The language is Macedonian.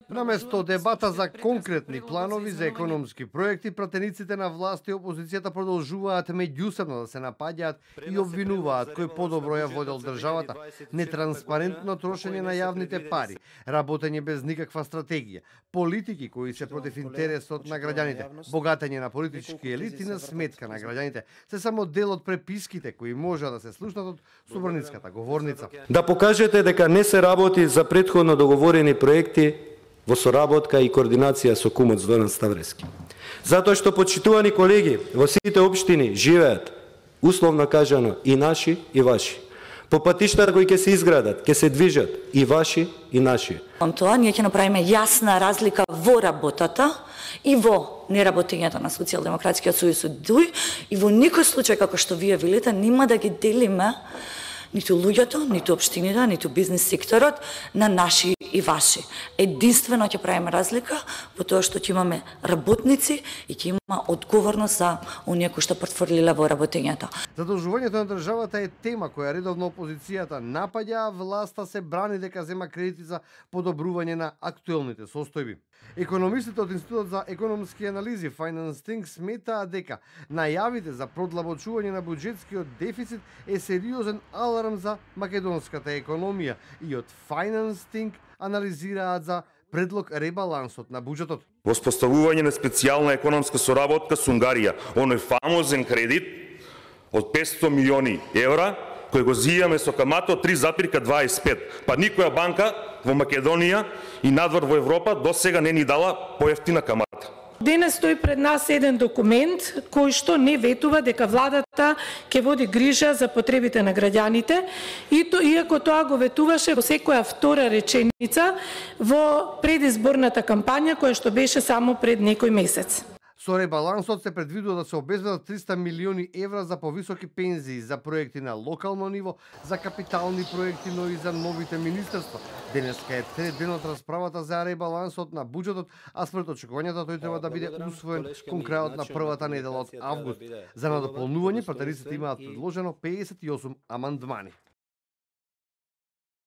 Наместо дебата за конкретни планови за економски проекти, пратениците на власт и опозицијата продолжуваат меѓусебно да се напаѓаат и обвинуваат кој подобро ја водел државата, нетранспарентно трошење на јавните пари, работење без никаква стратегија, политики кои се против интересот на граѓаните, богатење на политички елити на сметка на граѓаните, се само дел од преписките кои може да се слушнат од собраницката говорница. Да покажете дека не се работи за претходно договорени проекти во соработка и координација со кумот Зоран Ставрески. Затоа што, почитувани колеги, во сите општини живеат, условно кажано, и наши и ваши. По патиштата кои ќе се изградат, ќе се движат и ваши и наши. Тоа ние ќе направиме јасна разлика во работата и во неработењето на Социјалдемократскиот сојуз и во никој случај, како што вие велите, нема да ги делиме ниту луѓето, ниту општините, ниту бизнес секторот на наши и ваши. Единствено ќе правиме разлика во тоа што ќе имаме работници и ќе има одговорност за оние кои што портфолиле во работењето. Задолжувањето на државата е тема која редовно опозицијата напаѓа, а власта се брани дека зема кредити за подобрување на актуелните состојби. Економистите од Институтот за економски анализи FinanceThink сметаат дека најавите за продлабочување на буџетскиот дефицит е сериозен аларм за македонската економија и од FinanceThink анализираат за предлог ребалансот на буџетот. Воспоставување на специјална економска соработка со Унгарија, оној фамозен кредит од 500 милиони евра, кој го зијаме со камата од 3,25. Па никоја банка во Македонија и надвор во Европа досега не ни дала поевтина камата. Денес стои пред нас еден документ кој што не ветува дека владата ќе води грижа за потребите на граѓаните, иако тоа го ветуваше во секоја втора реченица во предизборната кампања која што беше само пред некој месец. Со ребалансот се предвидува да се обезбедат 300 милиони евра за повисоки пензии, за проекти на локално ниво, за капитални проекти, но и за новите министерства. Денеска е трет ден од расправата за ребалансот на буџетот, а според очекувањата тој треба да биде усвоен кон крајот на првата недела од август. За надополнување, пратениците имаат предложено 58 амандмани.